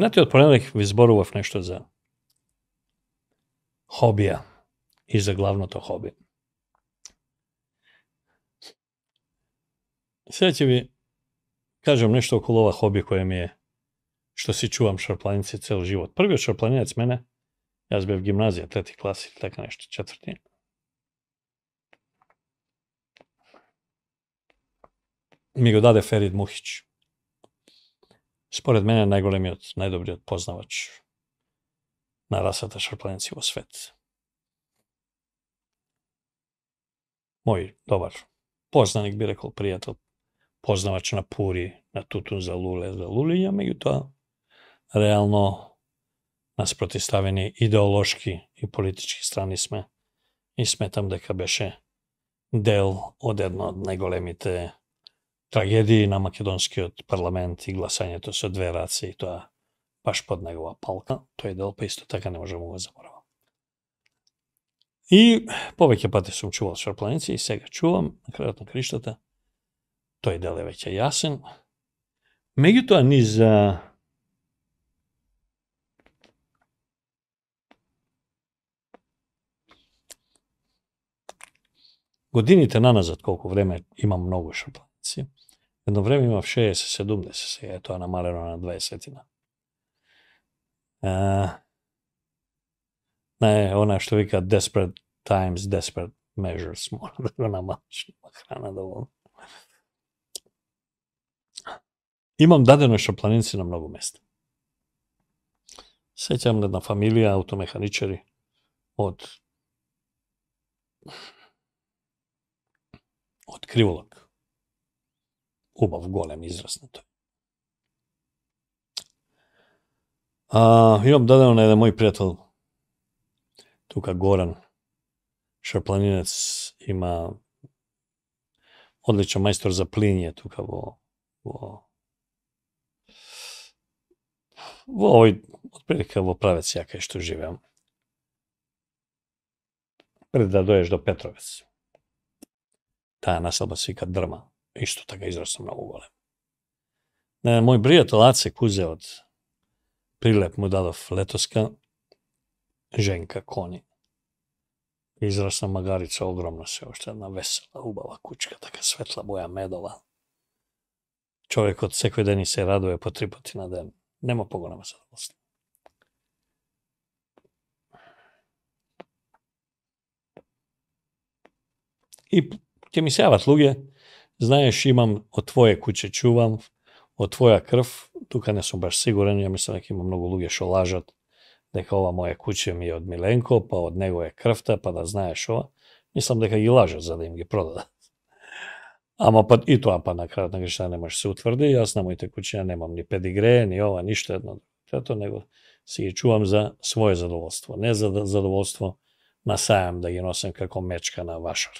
Минатиот понеделник ви зборував нешто за хобија и за главното хоби. Сега ќе ви кажам нешто околу ова хоби која ми е, што си чувам шарпланици цел живот. Првиот шарпланинец мене, јас бев гимназија, 3 клас или така нешто, 4. Ми го даде Ферид Мухич. Според мене најголемиот, најдобриот познавач на расата шарпланици во свет. Мој добар познаник, би рекол, пријател, познавач на пури, на тутун за луле, за лулиња, меѓутоа реално нас протиставени идеолошки и политички страни сме и сметам дека беше дел од една од најголемите трагедии на македонскиот парламент и гласањето со 2 раце и тоа баш под негова палка. Тој дел па исто така не можам да го заборавам. И повеќе пати сум чувал шарпланици и сега чувам на крајот на криштата. Тој дел е веќе јасен. Меѓутоа низ годините наназад, колку време имам многу шарпланици, едно време имав 60-70, сега е тоа намалено на 20-тина. Не, она што вика desperate times, desperate measures, мора да го намалиш, храна доволно. Имам дадено шарпланици на многу места. Сеќам една фамилија аутомеханичари од Криволак. Убав, голем израз на тој. Имам дадено на еден мој пријател, тука Горан, шарпланинец, има одличен мајстор за плиње тука во овој, отприлика во Правец ја кај што живеам. Пред да доеш до Петровец. Таа населба се вика Дрма, исто така израсна многу голем. Мој пријател Аце Кузе од Прилеп му дадов летоска, Женка Кони. Израсна магарица, огромна се, уште една весела, убава кучка, така светла боја медова. Човекот секој ден и се радува по 3 пати на ден. Нема поголема задоволство. И ќе ми се јават луѓе, знаеш, имам од твое куќе чувам, од твоја крв, тука не сум баш сигурен, ја мислам дека има многу луѓе што лажат, дека ова моје куќе ми е од Миленко, па од него е крвта, па да знаеш ова. Мислам дека ги лажат за да им ги продадат. Ама па и тоа па на крајот на грешта не може се утврди, јас на моите куќиња немам ни педигре, ни ова, ништо едно. Трето, него си ги чувам за свое задоволство, не за задоволство на сајам да ги носам како мечка на вашар.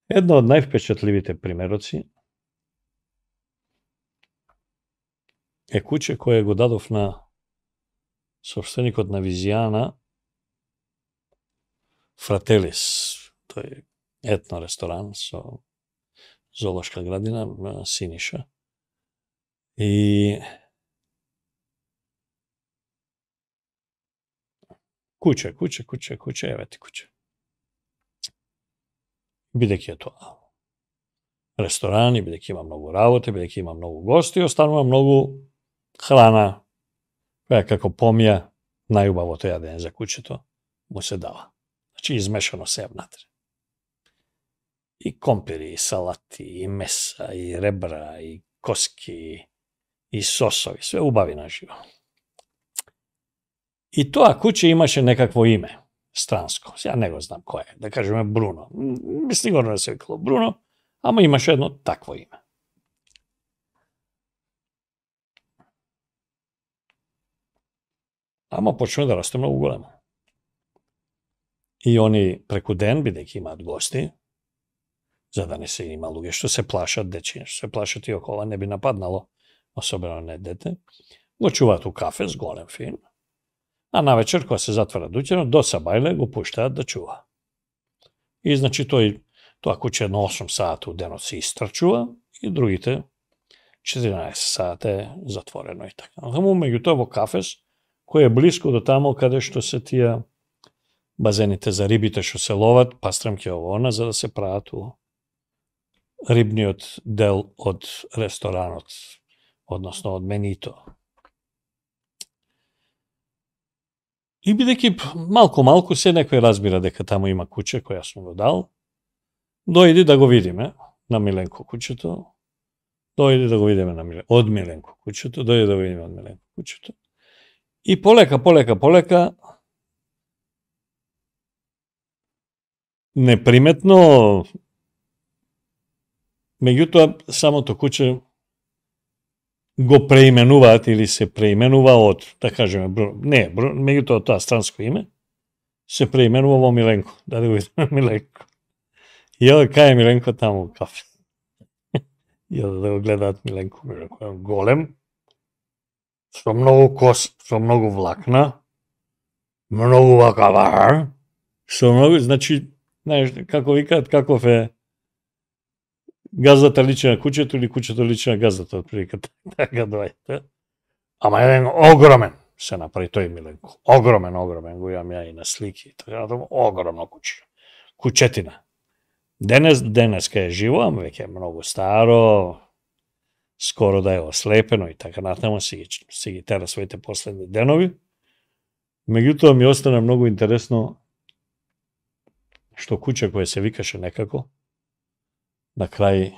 Едно од највпечатливите примероци е куќе кое го дадов на собственикот на Визијана, Фрателис, тој етно ресторан со зоолошка градина, Синиша. И куќе, еве ти куќе. Бидејќи е тоа ресторан и бидејќи има многу работа, бидејќи има многу гости, останува многу храна, која како помија најубавото јадење за куќето му се дава. Значи измешано се внатре. И компири, и салати, и меса, и ребра, и коски, и сосови, све убави на живо. И тоа куќе имаше некакво име, странско. Сега не го знам кој е, да кажеме Бруно. Сигурно не се викало Бруно, ама имаше едно такво име. Ама почна да расте многу големо. И они преку ден, бидејќи имаат гости, за да не се има луѓе што се плашат дечиња, што се плашат и около, не би нападнало, особено не дете, го чуваат у кафе с голем фин, а навечер, кога се затвара дуќано, до сабајле го пуштаат да чува. И значи тоа куќе на 8 сата у денот се истрчува и другите 14 сата е затворено и така. Само меѓутоа во Кафес, кој е блиско до тамо каде што се тие базените за рибите што се ловат, пастрамки овона, за да се прават у рибниот дел од ресторанот, односно од менито. И бидејќи малку се некој разбира дека таму има куќе која сум го дал, дојди да го видиме на Миленко куќето, дојди да го видиме од Миленко куќето, дојди да го видиме од Миленко куќето. И полека, неприметно, меѓутоа самото куќе го преименуваат или се преименува од, да кажеме, меѓутоа тоа странско име, се преименува во Миленко, да го видиме Миленко. И оде кај е Миленко таму у Кафе. И оде да го гледаат Миленко е голем, со многу кос, со многу влакна, многу вака, со многу, значи, знаеш, како викаат, каков е газдата личи на куќето или куќето личи на газдата, отприлика така доаѓа. Ама еден огромен се направи тој Миленко. Огромен, го имам ја и на слики. Така огромно куќе. Куќетина. Денес кај е живо, ама веќе е многу старо, скоро да е ослепено и така натаму, си ги тера своите последни денови. Меѓутоа ми остана многу интересно што куќе кое се викаше некако, на крај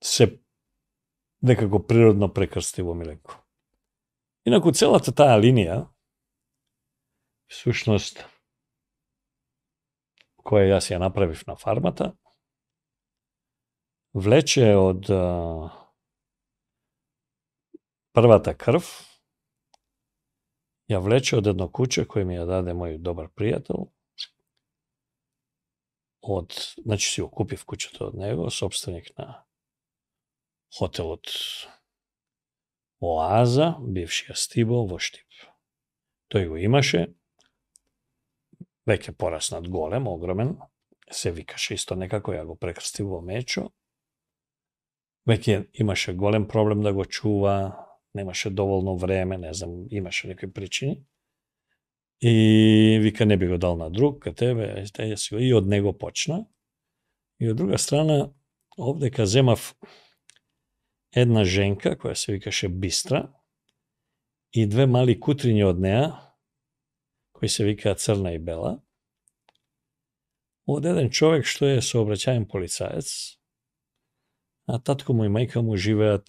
се некако природно прекрсти во Миленко. Инаку целата таа линија, всушност, која јас ја направив на фармата, влече од првата крв, ја влече од едно куќе кој ми ја даде мој добар пријател, значи си го купив куќето од него, собственик на хотелот Оаза, бившиот Стибо во Штип. Тој го имаше, веќе пораснат голем, огромен, се викаше исто некако, ја го прекрстив во Мечо. Веќе имаше голем проблем да го чува, немаше доволно време, не знам, имаше некои причини. И вика не би го дал на друг, ка тебе, и од него почна. И од друга страна, овдека земав една женка, која се викаше Бистра, и две мали кутриња од неа, кои се викаат Црна и Бела, од еден човек што е сообраќаен полицаец, а татко му и мајка му живеат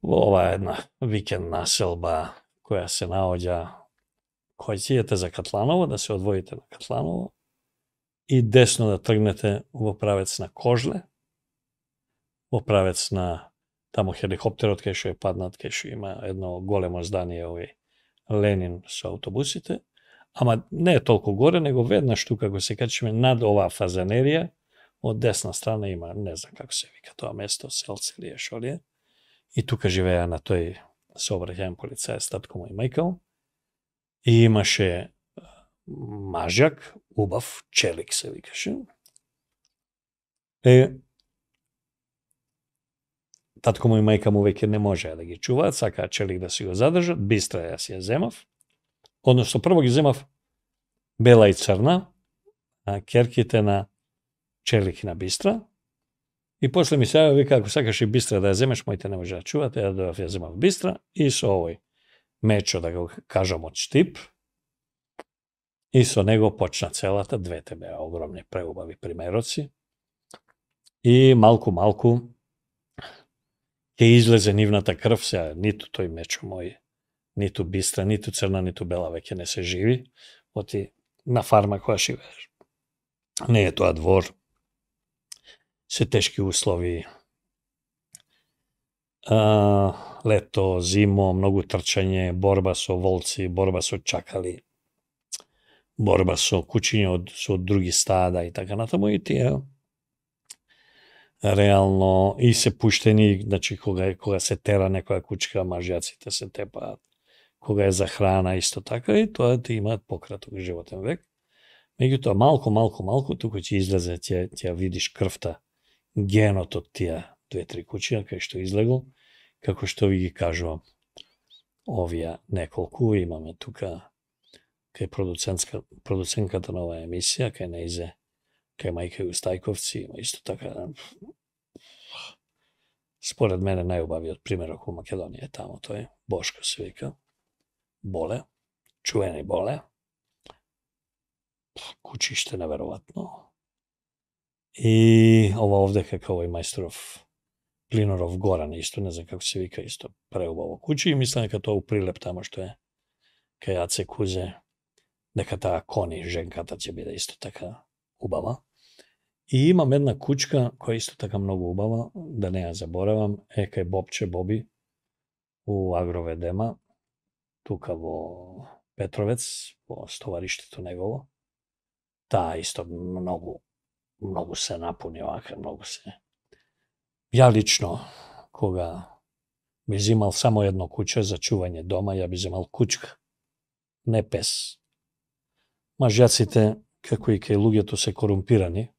во ова една викенд населба која се наоѓа кој ќе за Катланово, да се одвоите на Катланово и десно да тргнете во правец на Кожле, во правец на тамо хеликоптерот кај што е паднат, кај што има едно големо здание овој Ленин со автобусите, ама не е толку горе, него веднаш тука го се качиме над оваа фазанерија, од десна страна има, не знам како се вика тоа место, селце или е шо ли е, и тука живеа на тој сообраќаен полицаец, татко му и мајка му, и имаше мажјак, убав, Челик се викаше. Татко му и мајка му веќе не можеа да ги чуваат, сакаа Челик да си го задржат, Бистра јас ја земав, односно прво ги земав Бела и Црна, керките на Челик и на Бистра, и после ми се јави, вика, ако сакаш и Бистра да ја земеш, моите не може да чуват, ја земав Бистра, и со овој Мечо, да го кажам, од Штип, и со него почна целата, двете беа огромни преубави примероци, и малку ќе излезе нивната крв, сега ниту тој Мечо мој, ниту Бистра, ниту Црна, ниту Бела веќе не се живи, оти на фарма која живееш. Не е тоа двор, се тешки услови, лето, зимо, многу трчање, борба со волци, борба со чакали, борба со кучиња со други стада и така натаму, и тие реално и се пуштени, значи кога се тера некоја кучка, мажјаците се тепаат, кога е за храна исто така, и тоа ти имаат пократок животен век. Меѓутоа, малку, туку ќе излезе, ќе видиш крвта, генот од тие 2-3 куќи, кај што излегол, како што ви ги кажувам. Овие неколку имаме тука кај продуценката на оваа емисија, кај Неизе, кај мајка Јустајковци, има исто така. Според мене најубавиот примерок во Македонија е тамо тој, Бошко се вика, Боле, чуени Боле, кучиште неверојатно. И ова овде како овој мајсторов Плиноров Горан, исто не знам како се вика, исто преубаво куче, и мислам дека тоа у Прилеп тамо што е кај Аце Кузе, дека таа Кони, женката, ќе биде исто така убава. И имам една кучка која исто така многу убава, да не ја заборавам, е кај Бобче Боби у Агроведема, тука во Петровец, во стовариштето негово. Таа исто многу се напуни овака, многу се. Ја лично, кога би земал само едно куче за чување дома, ја би земал кучка, не пес. Мажјаците, како и кај луѓето, се корумпирани.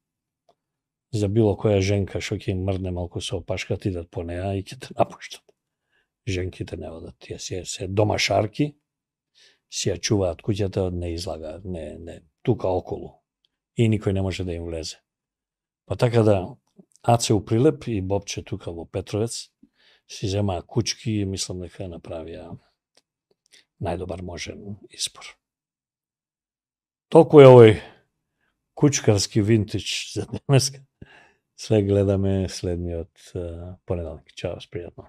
За било која женка што ќе им мрдне малку со опашката, идат по неа и ќе те напуштат. Женките не одат, тие се домашарки, си ја чуваат куќата, не излагаат, не тука околу. И никој не може да им влезе. Па така да, Аце у Прилеп и Бобче тука во Петровец си земаа кучки и мислам дека направија најдобар можен избор. Толку е овој кучкарски винтидж за денеска. Све гледаме следниот понеделник. Чао, пријатно.